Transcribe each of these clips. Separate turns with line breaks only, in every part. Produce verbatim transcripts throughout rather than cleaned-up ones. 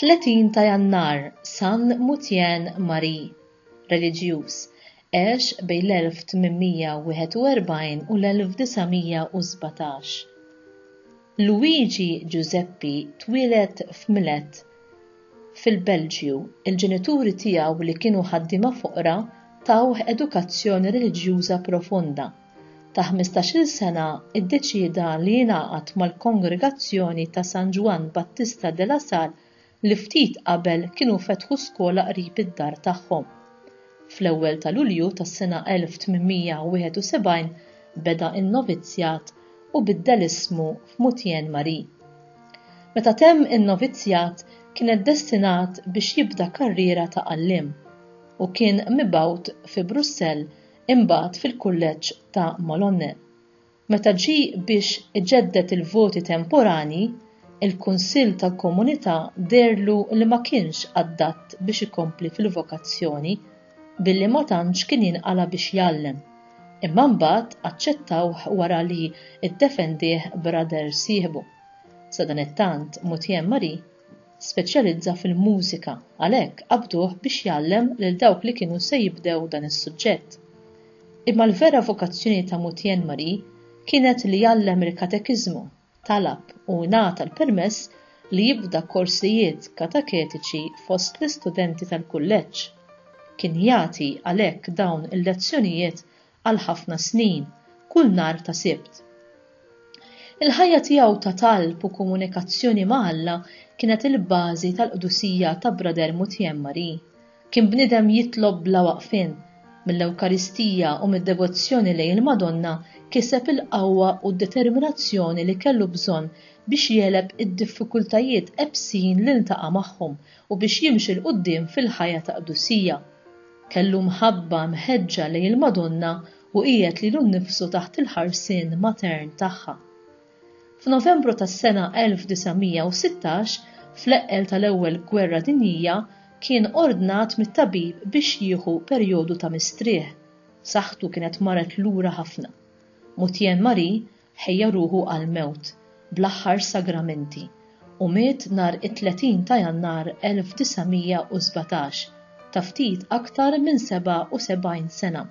Tletin ta' Jannar, San Mutien Marie, reliġjuż, għex bejn l-elf tmien mija wieħed u erbgħin u l-elf disa' mija u sbatax. Luigi Giuseppi twieled f'Milet, fil-Belġju. Il-ġenituri tiegħu li kienu ħaddiema foqra tawh edukazzjoni reliġjuża profonda. Ta' ħmistax-il sena iddeċieda li jingħaqad mal-kongregazzjoni ta' San Ġwann Battista de la Salle li ftit qabel kienu fetħu skola qrib id-dar tagħhom. Fl-ewwel ta' Lulju tas-sena elf tmien mija wieħed u sebgħin beda n-novizzjat u biddel ismu f'Mutien Marie. Meta temm in-novizzjat kienet destinat biex jibda karriera ta' għalliem u kien mibgħut fi Brussell imbagħad fil-kulleġġ ta' Malonne. Meta ġie biex iġeddet il-voti temporani, il-Kunsill tal-Komunità deherlu li ma kienx adatt biex ikompli fil-vokazzjoni billi ma tantx kien jinqala biex jgħallem. Imma mbagħad aċċettawh wara li ddefendih brother sieħbu. Sadanittant Mutien Marie speċjalizza fil-mużika, għalhekk qabduh biex jgħallem lil dawk li kienu se jibdew dan is-suġġett. Imma l-vera vokazzjoni ta' Mutien Marie kienet li jgħallem il-katekiżmu, talab u ngħata l-permess li jibda korsijiet kateketiċi fost l-istudenti tal-kulleġġ. Kien jagħti għalhekk dawn il-lezzjonijiet għal ħafna snin, kull nhar ta' Sibt. Il-ħajja tiegħu ta' talb u komunikazzjoni ma' Alla kienet il-bażi tal-qdusija ta' Brother Mutien Marie. Kien bniedem jitlob bla waqfien, mill-Ewkaristija u mid-devozzjoni lejn il-Madonna kiseb il-qawwa u d-determinazzjoni li kellu bżonn biex jeleb id-diffikultajiet ebsin li ltaqa' magħhom u biex jimxi 'l quddiem fil-ħajja ta' qdusija. Kellu mħabba mħeġġa lejn il-Madonna u qiegħed lilu nnifsu taħt il-ħarsien matern tagħha. F'Novembru tas-sena elf disa' mija u sittax, fl-eqqel tal-Ewwel Gwerra Dinjija, kien ordnat mit-tabib biex jieħu perjodu ta' mistrieħ. Saħħtu kienet marret lura ħafna. Mutien Marie ħejja ruħu għal-mewt bl-aħħar sagramenti u miet nhar it-tletin ta' Jannar elf disa' mija u sbatax, ta' ftit aktar minn seba' u sebgħin sena.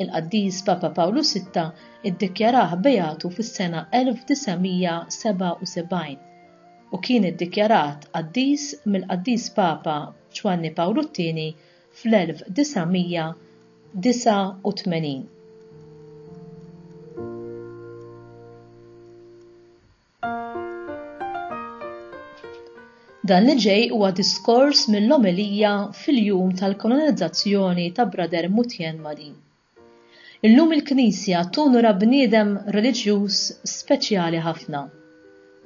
Il-qaddis Papa Pawlu sitta iddikjarah beatu fis-sena elf disa' mija seba' u sebgħin u kien iddikjarat qaddis mill-qaddis Papa Ġwanni Pawlu t-tieni fl-elf disa' mija disa' u tmenin. Dan li ġej huwa diskors mill-omelija fil-jum tal-kolonizzazzjoni ta' Brother Mutien Marie. Illum il-Knisja tonora bniedem reliġjuż speċjali ħafna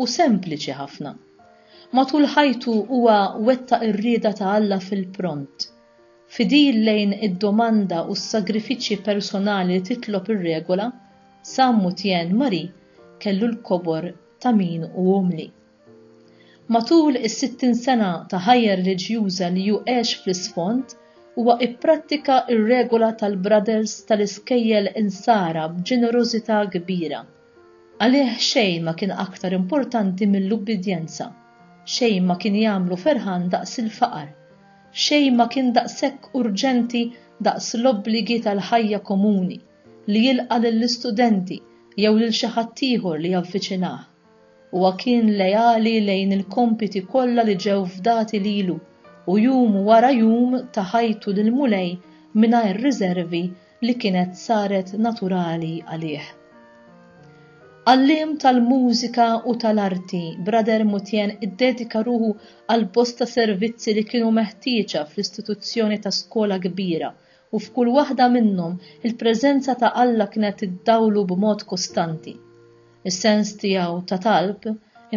u sempliċi ħafna. Matul ħajtu huwa wettaq ir-rieda ta' Alla fil-pront. Fidil lejn id-domanda u s-sagrifiċċji personali li titlob ir-regola, San Mutien Marie kellu l-kobor ta' min u umli. Matul is-sittin sena ta' ħajja reliġjuża li hu għex fl-isfond, huwa ipprattika r-regola tal-Brothers tal-iskejjel insara b'ġenerożità kbira. Għalih xejn ma kien aktar importanti mill-ubbidjenza, xejn ma kien jagħmlu ferħan daqs il-faqar, xejn ma kien daqshekk urġenti daqs l-obbligi tal-ħajja komuni li jilqa' lill-istudenti jew lil xi ħadd ieħor li javviċinah. Huwa kien lejali lejn il-kompiti kollha li ġew fdati lilu u jum wara jum ta' ħajtu lill-Mulej mingħajr riservi li kienet saret naturali għalih. Għalliem tal-mużika u tal-arti, Brother Mutien iddedika ruħu għal bosta servizzi li kienu meħtieġa fl-istituzzjoni ta' skola kbira u f'kull waħda minnhom il-preżenza ta' Alla kienet iddawlu b'mod kostanti. Is-sens tiegħu ta' talb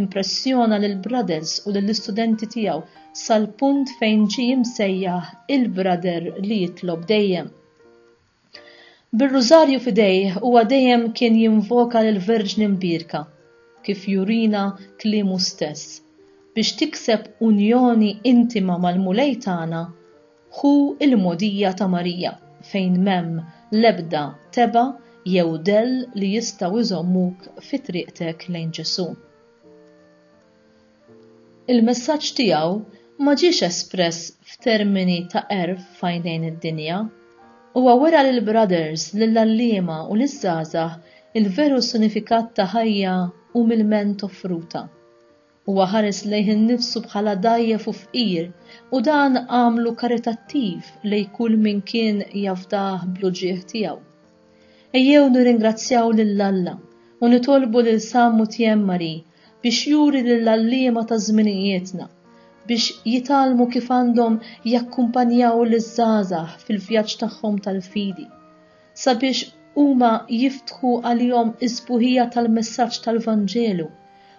impressjona lil brothers u lill-istudenti tiegħu sal-punt fejn ġie msejjaħ il-brother li jitlob dejjem. Bir-rużarju f'idejh huwa dejjem kien jinvoka lill-Verġni Mbierka, kif jurina kliemu stess, biex tikseb unjoni intima mal-Mulej tagħna hu il-mogħdija ta' Marija fejn m'hemm l-ebda teba' jew dell li jistgħu jżommuk fi triqtek lejn Ġesù. Il-messaġġ tiegħu ma ġiex espress f'termini ta' għerf f'għajnejn id-dinja. Huwa wera lill-brothers, lill-għalliema u liż-żgħażagħ il-veru sinifikat ta' ħajja umilment offruta. Huwa ħares lejh innifsu bħala dgħajjef u fqir u dan għamlu karitattiv lejn kull min kien jafdah bl-uġigħ tiegħu. Ejjew nirringrazzjaw lil Alla u nitolbu lil San Mutien Marie biex juri lill-għalliema ta' żminijietna biex jitgħallmu kif għandhom jakkumpanjaw liż-żgħażagħ fil-vjaġġ tagħhom tal-fidi, sabiex huma jiftħu għalihom is-sbuħija tal-messaġġ tal-Vanġelu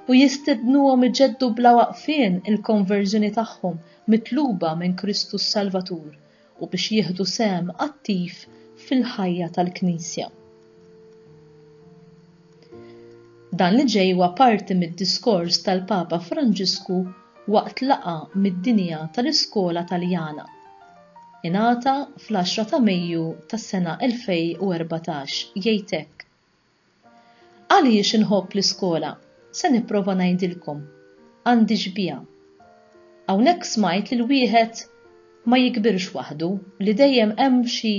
u jistednuhom iġeddu bla waqfien il-konverżjoni tagħhom mitluba minn Kristu s-Salvatur u biex jieħdu sehem attiv fil-ħajja tal-Knisja. Dan li ġej huwa parti mid-diskors tal-Papa Franġisku waqt laqgħa mid-dinja tal-iskola Taljana. Ingħata fl-għaxra ta' Mejju tas-sena elfejn u erbatax jgħid hekk. Għaliex inħobb l-iskola? Se nipprova ngħidilkom. Għandi xbieha. Hawnhekk smajt li l-wieħed ma jikbirx waħdu, li dejjem hemm xi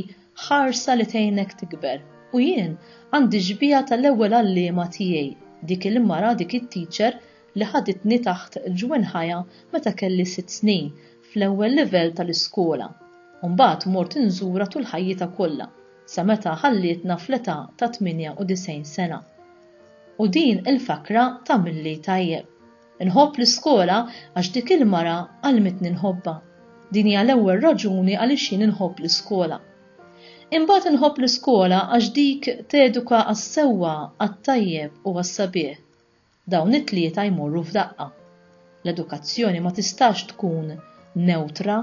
ħarsa li tgħinek tikber. U jien għandi xbieha tal-ewwel għalliema tiegħi, dik il-mara, dik it-teacher li ħaditni taħt ġwenħajja meta kelli sitt snin fl-ewwel livell tal-iskola. U mbagħad mort inżura tul ħajjitha kollha, sa meta ħallietna fl-età ta' tmienja u disgħin sena. U din il-fakra tagħmilli tajjeb. Inħobb l-iskola għax dik il-mara għallmitni nħobbha. Din hija l-ewwel raġuni għaliex jien inħobb l-iskola. Imbagħad inħobb l-iskola għax dik teduka għas-sewwa, għat-tajjeb u għas-sabiħ. Dawn it-tlieta jmorru f'daqqa. L-edukazzjoni ma tistax tkun neutra,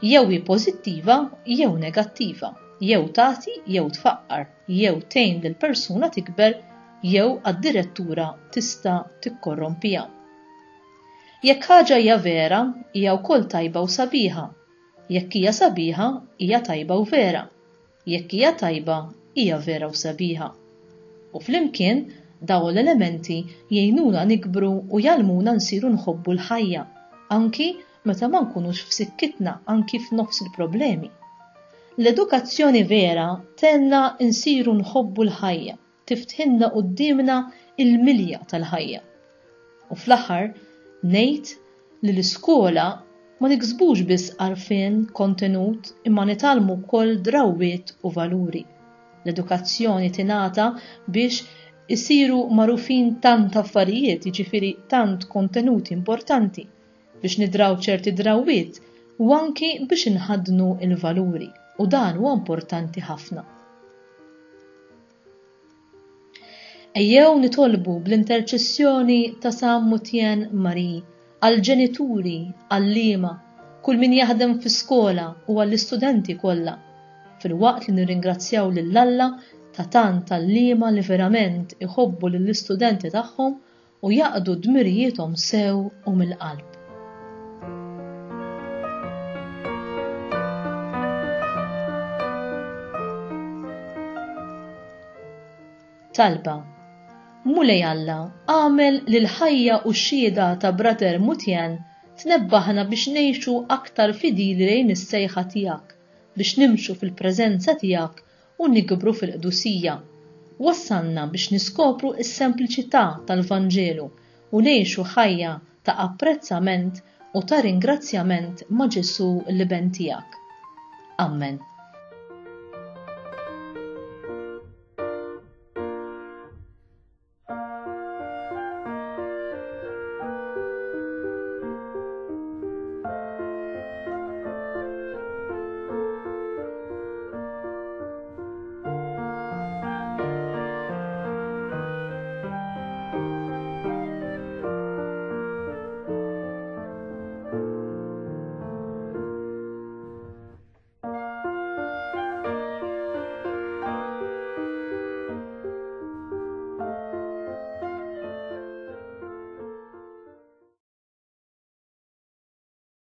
jew hi pożittiva jew negattiva, jew tagħti jew tfaqqar, jew tgħin lil persuna tikber jew għad-direttura tista' tikkorrompija. Jekk ħaġa hija vera, hija wkoll tajba u sabiħa. Jekk hija sabiħa, hija tajba u vera. Jekk hija tajba, hija vera u sabiħa. U flimkien dawn l-elementi jgħinuna nikbru u jgħallmuna nsiru nħobbu l-ħajja, anki meta ma nkunux f'sikkitna, anki f'nofs il-problemi. L-edukazzjoni vera tgħinna nsiru nħobbu l-ħajja, tiftħilna quddiemna il-milja tal-ħajja. U fl-aħħar ngħid li l-iskola ma niksbux biss għarfien, kontenut, imma nitgħallmu wkoll drawwiet u valuri. L-edukazzjoni tingħata biex isiru magħrufin tant affarijiet, jiġifieri tant kontenuti importanti, biex nidraw ċerti drawwiet u anki biex inħaddnu il-valuri, u dan huwa importanti ħafna. Ejjew nitolbu bl-interċessjoni ta' San Mutien Marie għall-ġenituri, għalliema, kull min jaħdem fi skola u għall-istudenti kollha, filwaqt li nirringrazzjaw lil Alla ta' tant għalliema li verament iħobbu lill-istudenti tagħhom u jaqdu dmirijiethom sew u mill-qalb. Talba. Mulej Alla, għamel li l-ħajja u x-xhieda ta' Brother Mutien tnebbaħna biex ngħixu aktar fidili lejn is-sejħa tiegħek, biex nimxu fil-preżenza tiegħek u nikbru fil-qdusija. Wassalna biex niskopru s-sempliċità tal-Vanġelu u ngħixu ħajja ta' apprezzament u ta' ringrazzjament ma' Ġesù l-Iben tiegħek. Amen.